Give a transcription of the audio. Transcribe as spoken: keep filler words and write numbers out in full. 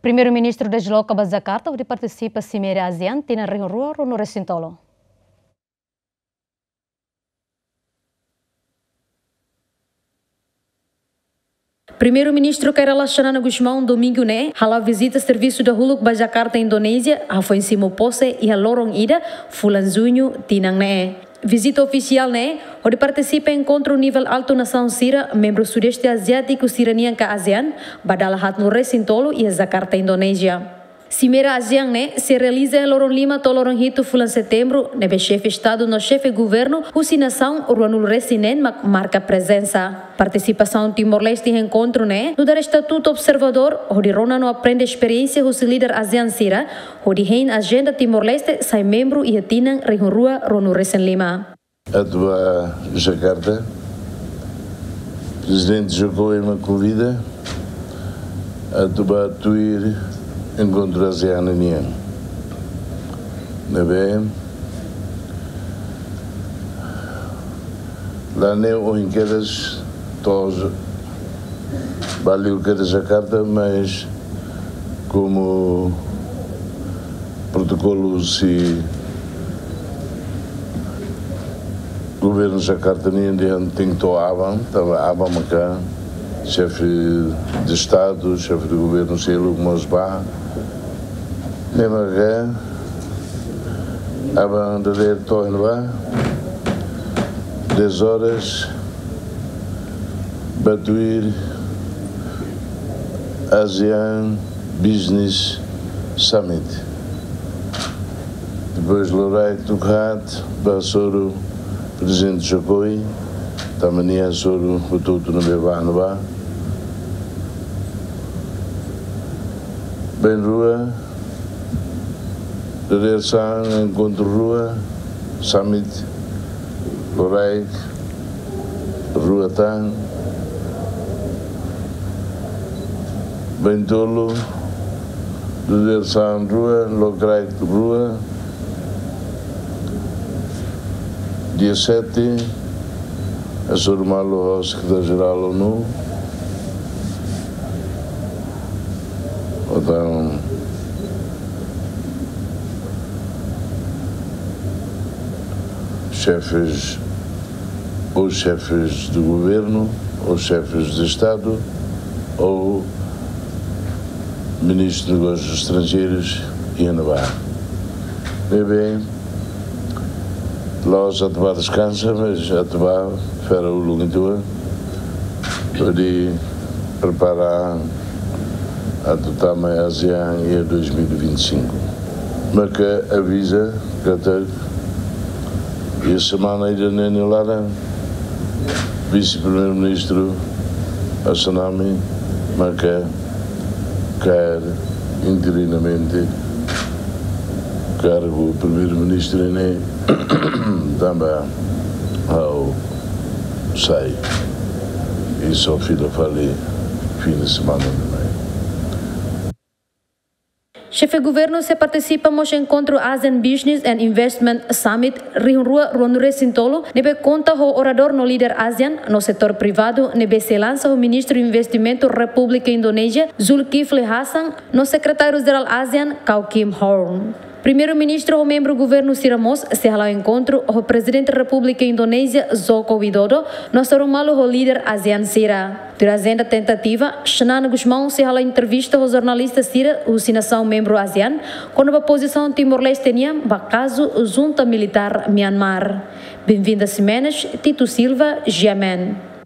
Primeiru-Ministru desloka ba Jakarta hodi partisipa Simeira ASEAN tinan rihun rua ruanulu resin tolu. Primeiru-Ministru Kay Rala Xanana Gusmão, domingu ne'e, hala'o vizita servisu dahuluk ba Jakarta, Indonézia, hafoin simu pose iha loron ida, fulan Juñu, tinan ne'e. Vizita ofisiál ne'e hodi partisipa enkontru nivel altu nasaun sira membru Sudeste Aziátiku sira-nian ka ASEAN, ba dala haatnulu resin tolu iha Jakarta, Indonézia. Simeira ASEAN ne'e sei realiza iha loron lima to'o loron hitu fulan Setembru, ne'ebé xefe Estadu no xefe Governu husi nasaun ruanulu resin neen mak marka prezensa. Partisipasaun Timor-Leste iha enkontru ne'e nu'udar estatutu observadór, hodi rona no aprende esperiénsia husi líder ASEAN sira, hodi hein ajenda Timor-Leste sai membru iha tinan rihun rua ruanulu resin lima. Atu ba Jakarta, Prezidente Jokowi mak konvida atu ba tuir enkontru ASEAN nian. Ne'ebé, la ne'e ohin kedas to'o ba liu kedas Jakarta, mas komu protokolu husi Governu Jakarta nian dehan tenke to'o aban, tanba aban maka xefe de Estadu, xefe de Governu seluk mós ba. Ne'e maka aban dadeer to'o iha ne'ebá, dez horas, ba tuir ASEAN Business Summit. Depois loraik tuku haat ba hasoru Prezidente Jokowi, tanba nia hasoru hotu-hotu ne'ebé ba ne'ebá. Bainrua, dadeer-saan enkontru rua, summit, loraik, rua tan, baintolu, dadeer-saan rua, loraik rua, dia sete, hasoru malu ho Sekretáriu-Jerál ONU, entaun xefes, ou xefes de governo, ou xefes de Estado, ou ministru de Negósius Estranjeirus iha ne'ebá. Ne'ebé, la'ós atu ba deskansa, mas atu ba fera uluk ituan, hodi prepara atu tama ASEAN iha dois mil e vinte e cinco. Maka aviza katak iha semana ida-ne'e nia laran, Vise-Primeiru-Ministru Assanami maka kaer interinamente kargu Primeiru-Ministru ne'e, tanba ha'u sai. I só fila fali fin de semana ne'e mai. Xefe Governu sei partisipa mós enkontru ASEAN Business and Investment Summit rihun rua ruanulu resin tolu, ne'ebé konta ho oradór no líder ASEAN no setór privadu, ne'ebé sei lansa ho Ministru Investimentu Repúblika Indonézia, Zulkifli Hasan, no Sekretáriu-Jerál ASEAN, Kao Kim Horn. Primeiru-Ministru ho membru governu sira mós sei hala'o enkontru ho Prezidente Repúblika Indonézia, Joko Widodo, no hasoru malu ho líder ASEAN sira. Tuir ajenda tentativa, Xanana Gusmão sei hala'o entrevista ho jornalista sira husi nasaun membru ASEAN, kona-ba pozisaun Timor-Leste nian ba kazu junta militár Myanmar. Benvinda Ximenes, Tito Silva, GMN.